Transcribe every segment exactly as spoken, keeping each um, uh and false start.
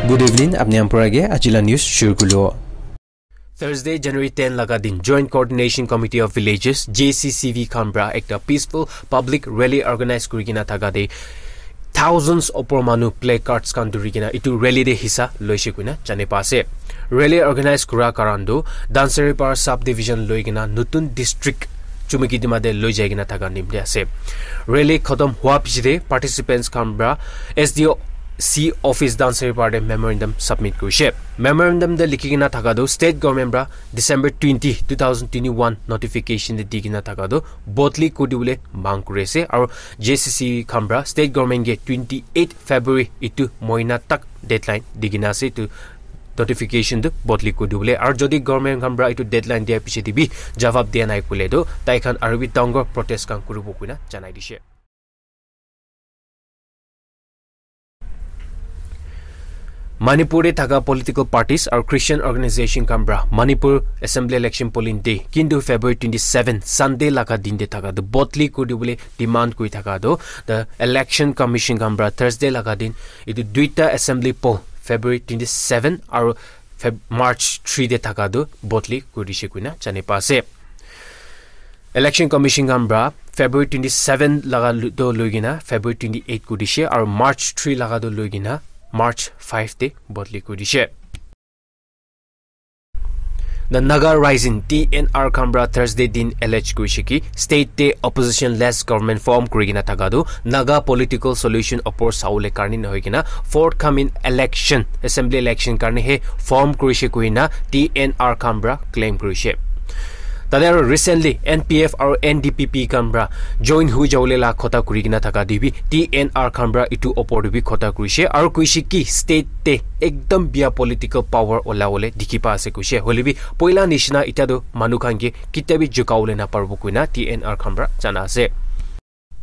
Good evening, apni khan para ke aji la news shuru kuribo. Thursday, January ten laga din, Joint Coordination Committee of Villages, J C C V khan para ekta peaceful public rally organize kuri kena thaka te thousands opor manu placards khan dhuri kena itu rally te hissa loise koina jane pa ase. Rally organize kura karan tu Dansaripar sub division loi kena nutun district Chumukedima te loi jai kena thaka nimte ase. Rally khatam hua piche te participants khan para S D O C office Dansaripar te memorandum submit kurishe. Memorandum te likhi kena thaka tu state government para December twenty, two thousand twenty-one notification te di kena thaka tu bodli kuri dibole mang kuri ase. Aru J C C V khan para state government ke twenty-eight February itu mohina tak deadline di kena ase itu notification tu bodli kuri dibole. Aru jodi government khan para itu deadline dia piche te bi jawab dia nai koile tu tai khan aru bi dangor protest khan kuribo koina janai dishe. Manipur te thaka political parties aru Christian organization khan para Manipur Assembly Election polling day kintu February twenty-seven Sunday laga din te thaka tu bodli kuri dibole demand kuri thaka tu the Election Commission khan para Thursday laga din itu duita assembly poll February twenty-seven aru Feb March three te thaka tu bodli kuri dishe koina jane pa ase. Election Commission khan para February twenty-seven laga lu- to loi kena February twenty-eight kuri dishe aru March three laga to loi kena March five te bodli kuri dishe. The Naga Rising T N R khan para Thursday din allege kurishe ki state te opposition less government form kuri kena thaka tu Naga political solution opor sawole karne nohoi kena forthcoming election, assembly election karne he form kurishe koina T N R khan para claim kurishe. Tate aru recently N P F aru N D P P khan para join hui jawole la khota kuri kena thaka te bi T N R khan para itu opor te bi khota kurishe aru kuishe ki state te ekdam bia political power ola wole dikhi pa ase kuishe. Hoile bi poila nishina itya tu manu khan ke kitia bi jukawole naparibo koina T N R khan para jana ase.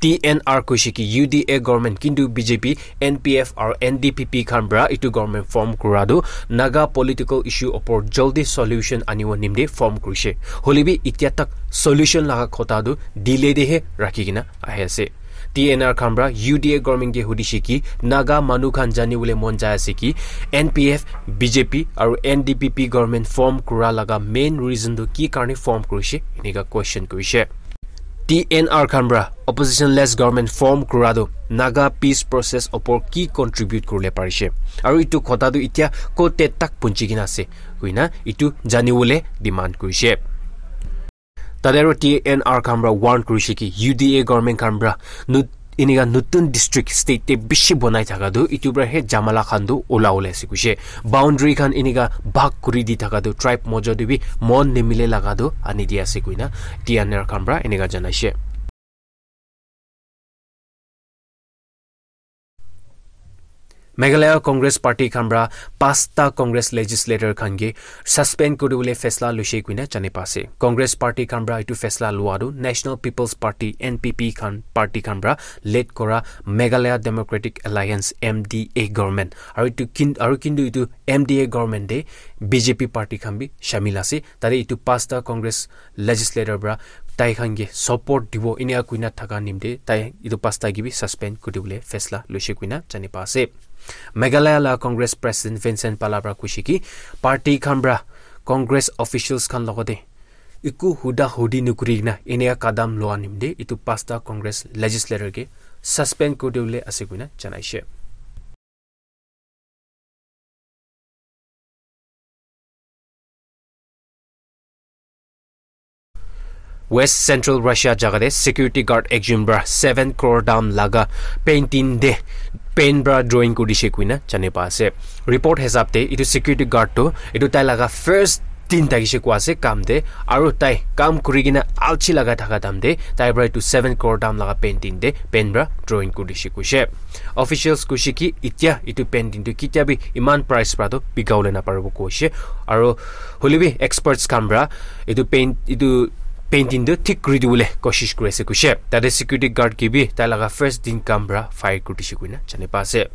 T N R kuishe ki U D A government kintu B J P, N P F aru N D P P khan para itu government form kura tu Naga political issue opor jaldi solution anibo nimte form kurishe. Hoile bi itya tak solution laga khota tu delay te he rakhi kena ahi ase. T N R khan para U D A government ke hudishe ki Naga manu khan jani bole mon jai ase ki N P F, B J P aru N D P P government form kura laga main reason tu ki karne form kurishe enika question kurishe. T N R khan para opposition less government form kura tu Naga peace process opor ki contribute kuribole parishe aru itu khota tu itya kote tak punchi kena ase koina itu jani bole demand kurishe. Tate aru T N R khan para warn kurishe ki U D A government khan para nu- enika nutun district state te bishi bonai thaka tu itu para he jamala khan tu ola wole ase kuishe. Boundary khan enika bhag kuri di thaka tu tribe mojo te bi mon nimile laga tu ani di ase koina T N R khan para enika janaishe. Meghalaya Congress Party khan para pasta Congress legislator khan ke suspend kuri bole fesla loise koina jane pa ase. Congress Party khan para itu fesla lua tu National People's Party, N P P khan party khan para led kura Meghalaya Democratic Alliance, M D A government aru itu kin- aru kintu itu M D A government te B J P party khan bi shamil ase. Tate itu pasta Congress legislator para tai khan ke support dibo enika koina thaka nimte tai itu pasta ke bi suspend kuri dibole fesla loise koina jane pa ase. Meghalaya la Congress President Vincent Pala para kuishe ki party khan para Congress officials khan logote eku huda hudi nukuri kena enika kadam loa nimte itu pasta Congress legislator ke suspend kuri dibole ase koina janaishe. West Central Russia jaga te security guard ekjon para seven crore dam laga painting te paint para drawing kuri dishe koina jane pa ase. Report hisab te itu security guard tu itu tai laga first din thakishe koa ase kam te aru tai kam kuri kena alchi laga thaka time te tai para itu seven crore dam laga painting te paint para drawing kuri dishe kuishe. Officials kuishe ki itya itu painting tu kitia bi iman price para tu bika bole naparibo kuishe. Aru hoile bi experts khan para itu paint itu painting tu thik kuri dibole koshish kuri ase kuishe. Tate security guard ke bi tai laga first din kam para fire kuri dishe koina jane pa ase.